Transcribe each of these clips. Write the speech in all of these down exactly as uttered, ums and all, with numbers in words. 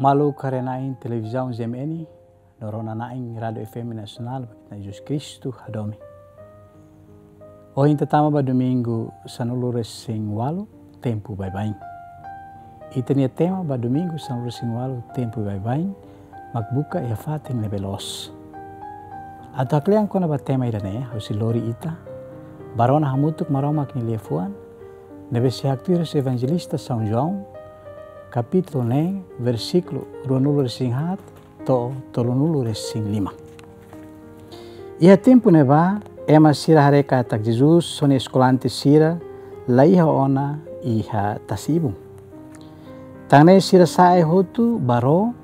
Maluk haree-na'in televizaun G M N, no rona-na'in Rádiu F M Nasionál, ba ita-nia Jesus Kristu Hadomi. Ohin ita tama ba Domingu sanulu-resin-ualu, Tempu Baibain. Ita-nia tema ba Domingu sanulu-resin-ualu, Tempu Baibain, mak buka iha fatin ne'ebé loos. Atu haklean kona-ba tema ida-ne'e, ha'u sei lori ita ba rona hamutuk Maromak nia liafuan, ne'ebé sei haktuir husi Evanjelista São João, kapítulu neen, versíkulu ruanulu-resin-haat to'o tolunulu-resin-lima. Iha tempu ne'ebá, ema sira haree katak Jesus ho nia eskolante sira la iha ona iha tasi-ibun. Tan ne'e sira sa'e hotu ba ró,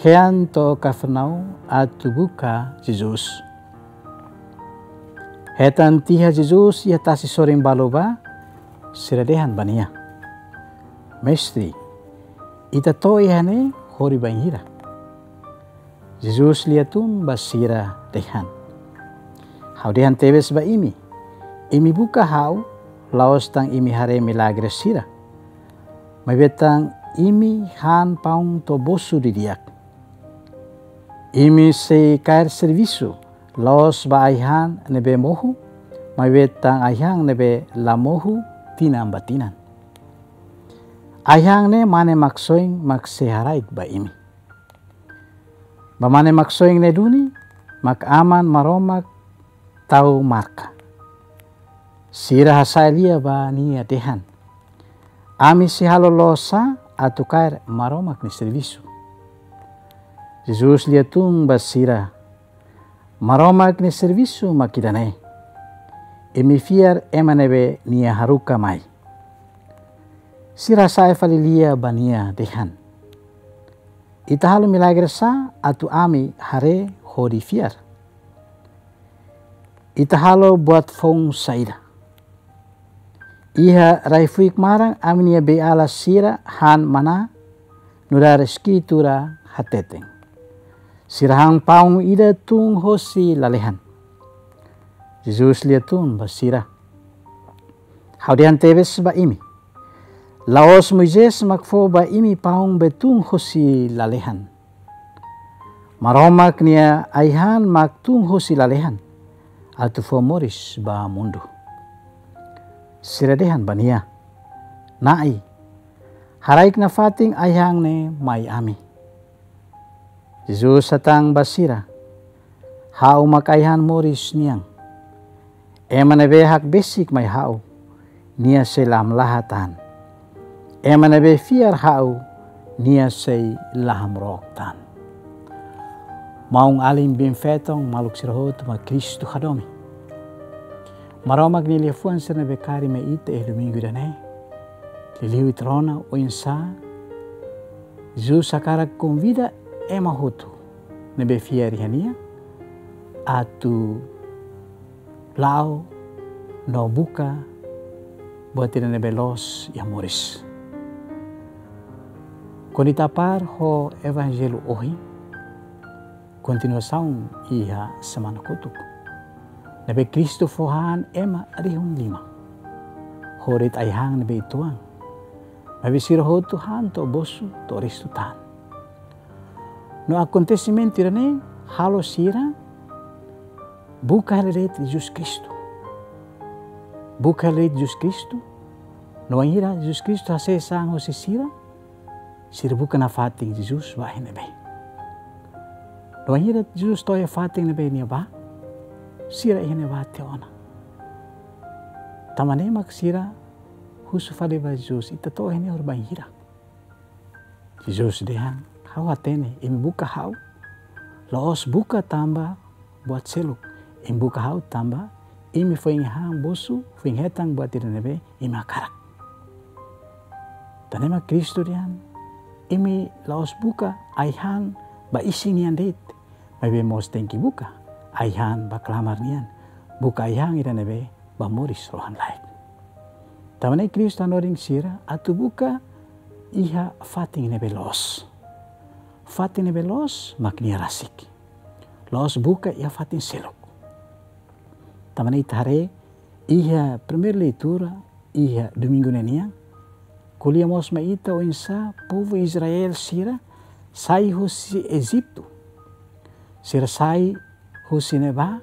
hean to'o Kafarnaum atu buka Jesus. Hetan tiha Jesus iha tasi sorin balu bá, sira dehan ba nia: Mestre, ita to'o iha ne'e hodi bainhira? Jesus liatun ba sira dehan: Ha'u dehan tebes ba imi, imi buka ha'u, la'ós tan imi haree milagre sira, maibé tan imi han paun to'o bosu didi'ak. Imi sei kaer servisu, la'ós ba ai-han ne'ebé mohu, maibé tan ai-han ne'ebé la mohu tinan ba tinan. Ai-han ne'e Mane Maksoin mak sei haraik ba imi. Ba Mane Maksoin ne'e duni mak Aman Maromak tau marka. Sira hasa'e lia ba nia dehan: Ami sei halo loos sá atu kaer Maromak nia servisu? Jesus liatun ba sira: Maromak nia servisu mak ida-ne'e: imi fiar ema ne'ebé nia haruka mai. Sira hasa'e fali lia ba nia dehan: Ita halo milagre sá atu ami haree hodi fiar? Ita halo buat foun saida? Iha rai-fuik maran ami-nia bei-ala sira han maná, nu'udar Eskritura hateten. Sira han paun ida tun hosi lalehan. Jesus liatun ba sira: Ha'u dehan tebes ba imi, la'ós Moisés mak fó ba imi paun be tun hosi lalehan. Maromak nia ai-han mak tun hosi lalehan, atu fó moris ba mundu. Sira dehan ba nia: Na'i, haraik nafatin ai-han ne'e mai ami. Jesus hatán ba sira: Ha'u mak ai-han moris nian. Ema ne'ebé hakbesik mai ha'u, nia sei la hamlaha tan. Ema ne'ebé fiar ha'u, nia sei la hamrook tan. Maun-alin biin-feton, maluk sira hotu mak Kristu hadomi. Maromak nia liafuan sira ne'ebé karik mai ita iha domingu ida-ne'e. Liuliu ita rona oinsá Jesus hakarak konvida ema hotu ne'ebé fiar iha nia atu la'o no buka buat ida ne'ebé loos iha moris. Kuandu ita apar ho Evanjellu ohin, kontinuasaun iha semana kotuk, ne'ebé Kristu fó han ema rihun lima ho de'it ai-han ne'ebé uitoan, maibé sira hotu han to'o bosu, to'o restu tan. No akontesimentu ida-ne'e halo sira buka hela de'it Jesus Kristu. Buka hela de'it Jesus Kristu. No wainhira Jesus Kristu hasees an hosi sira, sira buka nafatin Jesus bá iha ne'ebé. No wainhira Jesus to'o iha fatin ne'ebé nia bá, sira iha ne'ebá tiha ona. Tanba ne'e mak sira husu fali ba Jesus: Ita to'o iha ne'e hodi bainhira? Jesus dehan: Ha'u hatene, imi buka ha'u, la'ós buka tanba buat seluk. Imi buka ha'u tanba imi foin han bosu, foin hetan buat ida ne'ebé imi hakarak. Tan ne'e mak Kristu dehan: Imi la'ós buka ai-han ba isin nian de'it, maibé mós tenke buka ai-han ba klamar nian, buka ai-han ida ne'ebé ba moris rohan-laek. Tanba ne'e Kristu hanorin sira atu buka iha fatin ne'ebé loos. Fatin ne'ebé loos mak nia rasik. La'ós buka iha fatin seluk. Tanba ne'e ita haree iha primeira leitura iha domingu ne'e nian, ko'alia mós mai ita oinsá povu Israel sira Sai husi Ejitu. Sira sai husi ne'ebá,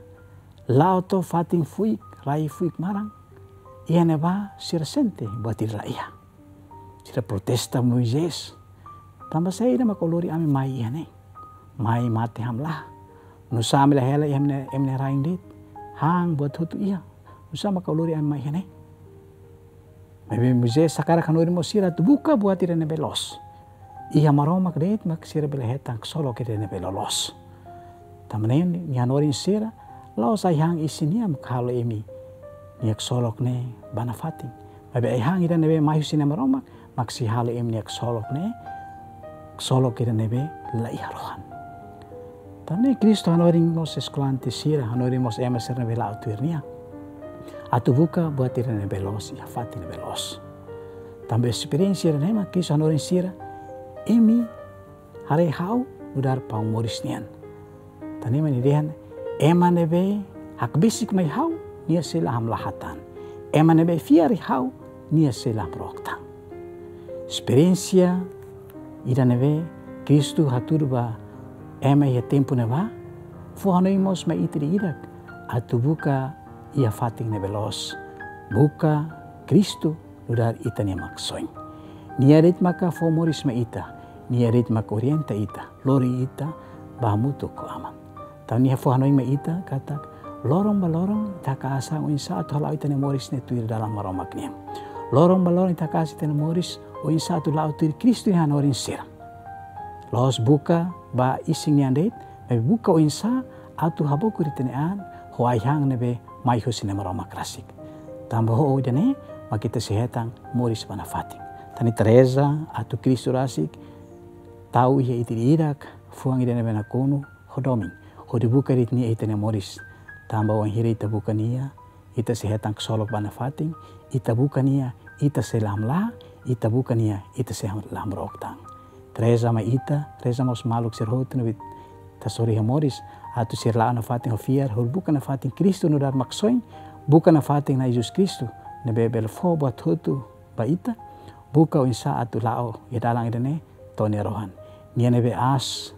la'o to'o fatin fuik, rai fuik maran. Iha ne'ebá sira sente buat ida la iha. Sira protesta Moisés. Tanba saida mak ó lori ami mai iha ne'e? Mai mate hamlaha. Nusá ami la hela iha ema nia, ema nia rain de'it? Han buat hotu iha. Nusá mak ó lori ami mai iha ne'e? Maibé Moisés hakarak hanorin mós sira atu buka buat ida ne'ebé loos. Iha Maromak de'it mak sira bele hetan ksolok ida ne'ebé loloos. Tanba ne'e nia hanorin sira, la'ós ai-han isin nian mak halo imi-nia ksolok ne'e ba nafatin. Maibé ai-han ida ne'ebé mai husi Nai Maromak mak sei halo imi-nia ksolok ne'e, ksolok ida ne'ebé la iha rohan. Tanba ne'e Kristu hanorin mós eskolante sira, hanorin mós ema sira ne'ebé la'o tuir nia, atu buka buat ida ne'ebé loos iha fatin ne'ebé loos. Tanba esperiénsia ida-ne'e mak Kristu hanorin sira, imi haree ha'u nu'udar paun moris nian. Tan ne'e mak nia dehan, ema ne'ebé hakbesik mai ha'u, nia sei la hamlaha tan. Ema ne'ebé fiar iha ha'u, nia sei la hamrook tan. Esperiénsia ida ne'ebé Kristu hatudu ba ema iha tempu ne'ebá, fó hanoin mós mai ita ida-idak atu buka iha fatin ne'ebé loos. Buka Kristu nu'udar ita-nia Maksoin. Nia de'it maka fó moris mai ita, nia de'it maka orienta ita, lori ita ba hamutuk ho Aman. Tan ne'e nia fó hanoin mai ita katak, loron ba loron ita haka'as an oinsá atu hala'o ita-nia moris ne'e tuir dalan Maromak nian. Loron ba loron ita haka'as ita-nia moris oinsá atu la'o tuir Kristu nia hanorin sira. La'ós buka ba isin nian de'it, maibé buka oinsá atu habokur ita-nia an ho ai-han ne'ebé mai husi Nai Maromak rasik. Tanba ho ida-ne'e mak ita sei hetan moris ba nafatin. Tan ne'e ita reza atu Kristu rasik tau iha ita ida-idak fuan ida ne'ebé nakonu ho domin, hodi buka de'it nia iha ita-nia moris. Tanba wainhira ita buka nia, ita sei hetan ksolok ba nafatin. Ita buka nia, ita sei la hamlaha. Ita buka nia, ita sei la hamrook tan. Reza mai ita, reza mós maluk sira hotu ne'ebé ita hasoru iha moris, atu sira la'o nafatin ho fiar, hodi buka nafatin Kristu nu'udar Maksoin, buka nafatin Nai Jesus Kristu ne'ebé bele fó buat hotu ba ita, buka oinsá atu la'o iha dalan ida-ne'e to'o nia rohan. Nia ne'ebé aas,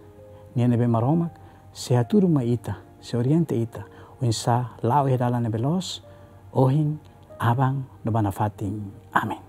nia ne'ebé Maromak, sei hatudu mai ita, sei orienta ita oinsá la'o iha dalan ne'ebé loos, ohin, aban no ba nafatin. Amen.